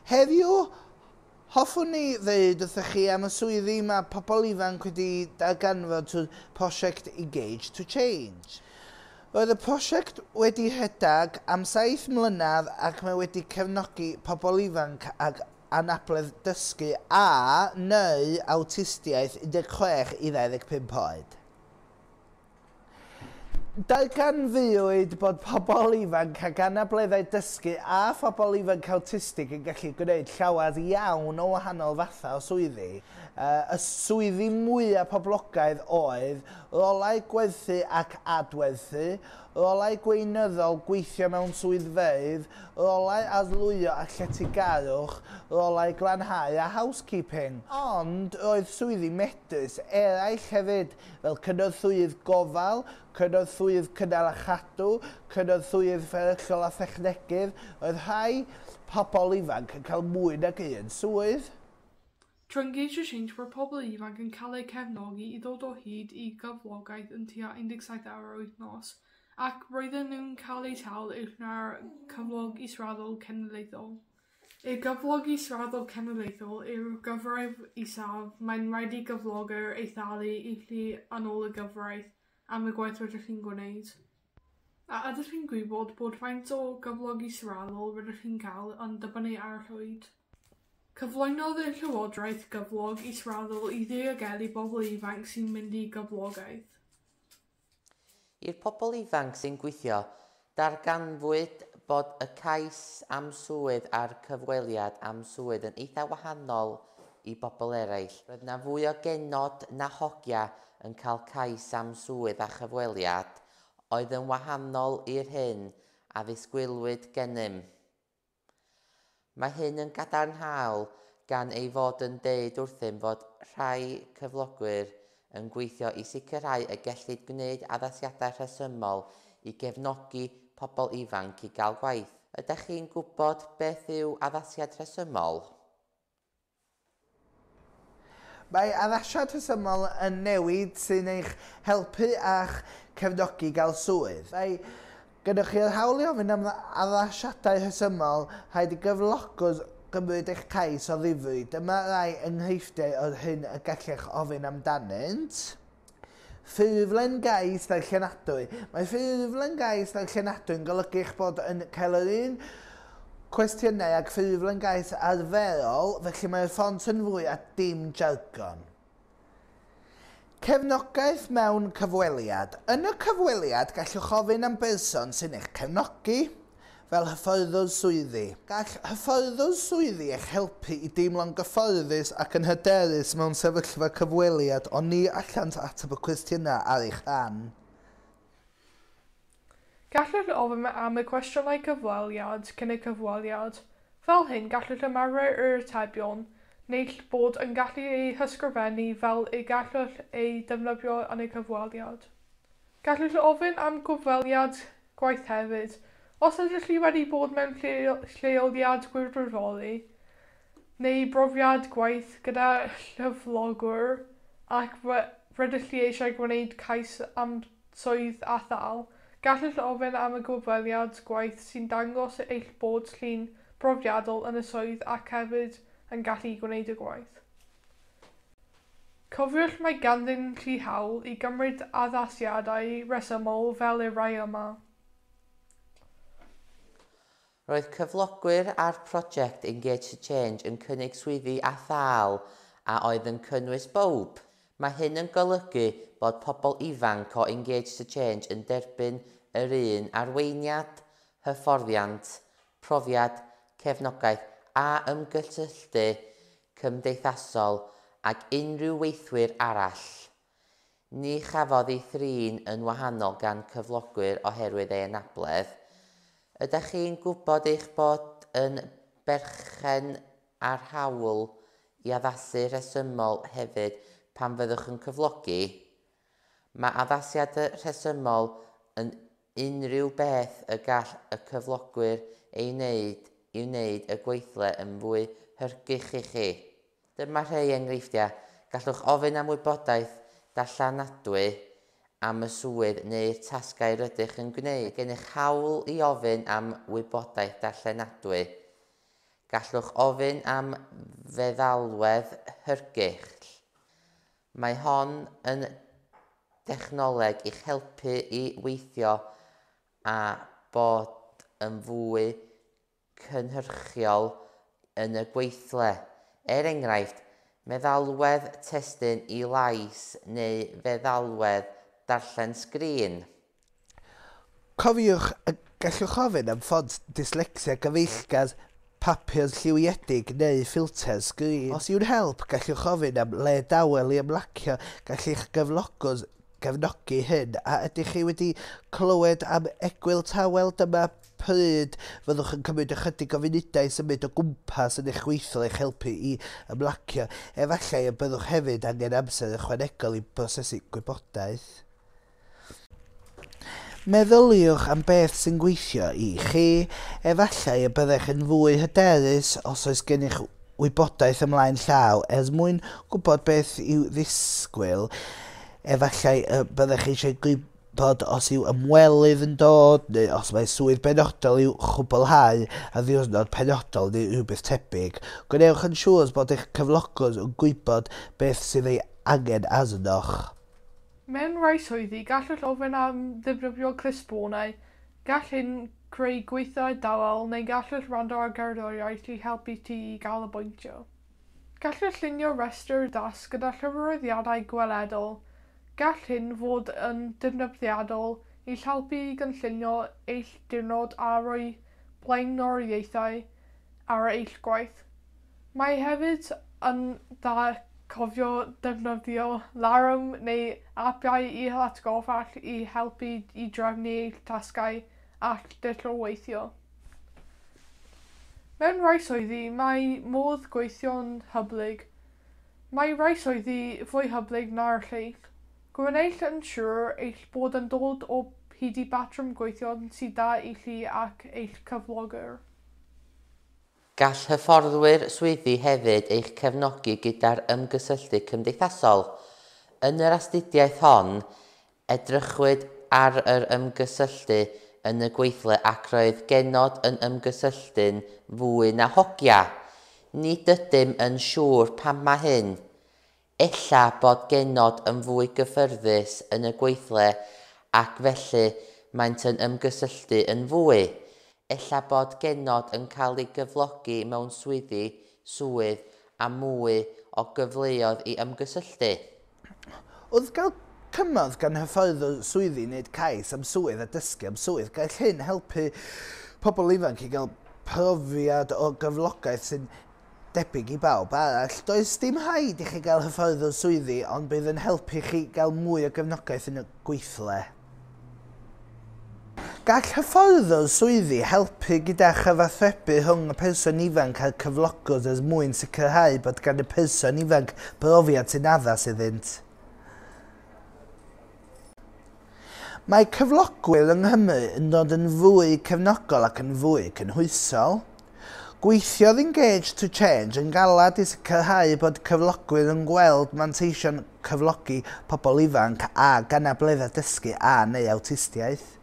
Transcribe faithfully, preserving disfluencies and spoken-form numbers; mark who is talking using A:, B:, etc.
A: Heddiw, hoffwn ni ddeud wrthych chi am y swyddi mae pobl ifanc wedi darganfod trwy'r prosiect Engage to Change. Roedd y prosiect wedi rhedeg am saith mlynedd ac mae wedi cefnogi pobl ifanc ag anabledd dysgu a neu awtistiaeth un deg chwech i ddau ddeg pump oed. Darganfuwyd bod pobl ifanc ag anableddau dysgu a phobl ifanc awtistig yn gallu gwneud llawer iawn o wahanol fathau o swyddi. Uh, y swyddi mwyaf poblogaidd oedd rolau gwerthu ac adwerthu, rolau gweinyddol gweithio mewn swyddfeydd, rolau arlwyo a lletygarwch, rolau glanhau a housekeeping. Ond roedd swyddi medrus eraill hefyd, fel cynorthwyydd gofal, cynorthwyydd cynnal a chadw, cynorthwyydd fferyllol a thechnegydd. Roedd rhai pobl ifanc yn cael mwy nag un swydd.
B: Trwy Engage to Change, roedd pobl ifanc yn cael eu cefnogi i ddod o hyd i gyflogaeth yn tua un deg saith awr yr wythnos, ac roedden nhw'n cael eu talu uwch na'r cyflog israddol cenedlaethol. Y gyflog israddol cenedlaethol yw'r gyfraith isaf mae'n rhaid i gyflogwr ei thalu i chi yn ôl y gyfraith am y gwaith rydych chi'n gwneud. A ydych chi'n gwybod bod faint o gyflog israddol rydych chi'n cael yn dibynnu ar eich oed? Cyflwynodd y Llywodraeth gyflog israddol i ddiogelu bobl ifanc sy'n mynd i gyflogaeth.
C: I'r pobl ifanc sy'n gweithio, darganfwyd bod y cais am swydd a'r cyfweliad am swydd yn eitha wahanol i bobl eraill. Roedd yna fwy o genod na hogia yn cael cais am swydd a chyfweliad oedd yn wahanol i'r hyn a ddisgwylwyd gennym. Mae hyn yn gadarnhaol gan ei fod yn deud wrthym fod rhai cyflogwyr yn gweithio i sicrhau y gellid gwneud addasiadau rhesymol i gefnogi pobl ifanc i gael gwaith. Ydych chi'n gwybod beth yw addasiad rhesymol?
A: Mae addasiad rhesymol yn newid sy'n eich helpu a'ch cefnogi gael swydd. Mae gennych chi'r hawl i ofyn am addasiadau rhesymol, rhaid i gyflogwr gymryd eich cais o ddifri. Dyma rai enghreifftiau o'r hyn y gallech ofyn amdanynt. Ffurflen gais ddarllenadwy. Mae ffurflen gais ddarllenadwy yn golygu eich bod yn cael yr un cwestiynau ag ffurflen gais arferol, felly mae'r ffont yn fwy a dim jargon. Cefnogaeth mewn cyfweliad. Yn y cyfweliad, gallwch ofyn am berson sy'n eich cefnogi, fel hyfforddwr swyddi. Gall hyfforddwr swyddi eich helpu i deimlo'n gyfforddus ac yn hyderus mewn sefyllfa cyfweliad, ond ni allant ateb y cwestiynau ar eich rhan.
B: Gallwch ofyn am y cwestiynau cyfweliad cyn y cyfweliad. Fel hyn, gallwch ymarfer yr atebion, neu bod yn gallu eu hysgrifennu fel y gallwch eu defnyddio yn y cyfweliad. Gallwch ofyn am gyfweliad gwaith hefyd. Os ydych chi wedi bod mewn lleoliad gwirfoddoli neu brofiad gwaith gyda chyflogwr ac rydych chi eisiau gwneud cais am swydd a thâl, gallwch ofyn am y gyfweliad gwaith sy'n dangos eich bod chi'n brofiadol yn y swydd ac hefyd yn gallu gwneud y gwaith. Cofiwch mae ganddyn chi hawl i gymryd addasiadau rhesymol fel y rhai yma.
C: Roedd cyflogwyr a'r prosiect Engage to Change yn cynnig swyddi a thâl a oedd yn cynnwys bawb. Mae hyn yn golygu bod pobl ifanc o Engage to Change yn derbyn yr un arweiniad, hyfforddiant, profiad, cefnogaeth a ymgysylltu cymdeithasol ag unrhyw weithwyr arall. Ni chafodd ei thrin yn wahanol gan cyflogwyr oherwydd ei anabledd. Ydych chi'n gwybod eich bod yn berchen ar hawl i addasu rhesymol hefyd pan fyddwch yn cyflogi? Mae addasiad rhesymol yn unrhyw beth y gall y cyflogwyr ei wneud i wneud y gweithle yn fwy hygyrch i chi. Dyma rhai enghreifftiau. Gallwch ofyn am wybodaeth darllenadwy am y swydd neu'r tasgau rydych yn gwneud. Mae gennych hawl i ofyn am wybodaeth darllenadwy. Gallwch ofyn am feddalwedd hygyrch. Mae hon yn dechnoleg i'ch helpu i weithio a bod yn fwy cynhyrchiol yn y gweithle. Er enghraifft, meddalwedd testun i lais neu feddalwedd darllen sgrin.
A: Cofiwch y gallwch ofyn am ffont dyslecsia gyfeillgar, papur lliwiedig neu ffilter sgrin. Os yw'n help, gallwch ofyn am le dawel i ymlacio. Gall eich gyflogwr gefnogi hyn. A ydych chi wedi clywed am egwyl tawel? Dyma pryd fyddwch yn cymryd ychydig o funudau i symud o gwmpas yn eich gweithle i'ch helpu i ymlacio. Efallai y byddwch hefyd angen amser ychwanegol i brosesu gwybodaeth. Meddyliwch am beth sy'n gweithio i chi. Efallai y byddech yn fwy hyderus os oes gennych wybodaeth ymlaen llaw er mwyn gwybod beth i'w ddisgwyl. Efallai y byddech eisiau gwybod os yw ymwelydd yn dod neu os mae swydd benodol i'w chwblhau ar ddiwrnod penodol neu rhywbeth tebyg. Gwnewch yn siŵr bod eich cyflogwr yn gwybod beth sydd ei angen arnoch.
B: Mewn rhai swyddi, gallwch ofyn am ddefnyddio clustffonau. Gall hyn creu gweithiau dawel neu gallwch wrando ar gerddoriaeth i helpu ti i ganolbwyntio. Gallwch llunio rhestr dasg gyda chyfarwyddiadau gweledol. Gall hyn fod yn ddefnyddiadol i'ch helpu i gynllunio eich diwrnod a rhoi blaenoriaethau ar eich gwaith. Mae hefyd yn dda cofio defnyddio larwm neu apiau i'ch atgoffa i helpu i drefnu eich tasgau a'ch dull o weithio. Mewn rhai swyddi, mae modd gweithio'n hyblyg. Mae rhai swyddi fwy hyblyg na'r lleill. Gwnewch yn siŵr eich bod yn dod o hyd i batrwm gweithio sydd da i chi ac eich cyflogwr.
C: Gall hyfforddwyr swyddi hefyd eich cefnogi gyda'r ymgysylltu cymdeithasol. Yn yr astudiaeth hon, edrychwyd ar yr ymgysylltu yn y gweithle ac roedd genod yn ymgysylltu'n fwy na hogia. Nid ydym yn siŵr pam mae hyn. Ella bod genod yn fwy gyffyrddus yn y gweithle ac felly maent yn ymgysylltu yn fwy. Ella bod genod yn cael ei gyflogi mewn swyddi, swydd a mwy o gyfleoedd i ymgysylltu.
A: Wrth gael cymorth gan hyfforddwr swyddi wneud cais am swydd a dysgu am swydd, gall hyn helpu pobl ifanc i gael profiad o gyflogaeth sy'n debyg i bawb arall. Does dim rhaid i chi gael hyfforddwr swyddi, ond bydd yn helpu chi gael mwy o gefnogaeth yn y gweithle. Gall hyfforddwr swyddi helpu gyda chyfathrebu rhwng y person ifanc a'r cyflogwr er mwyn sicrhau bod gan y person ifanc brofiad sy'n addas iddynt. Mae cyflogwyr yng Nghymru yn dod yn fwy cefnogol ac yn fwy cynhwysol. Gweithiodd Engage to Change yn galad i sicrhau bod cyflogwyr yn gweld manteision cyflogi pobl ifanc ag anableddau dysgu a neu awtistiaeth.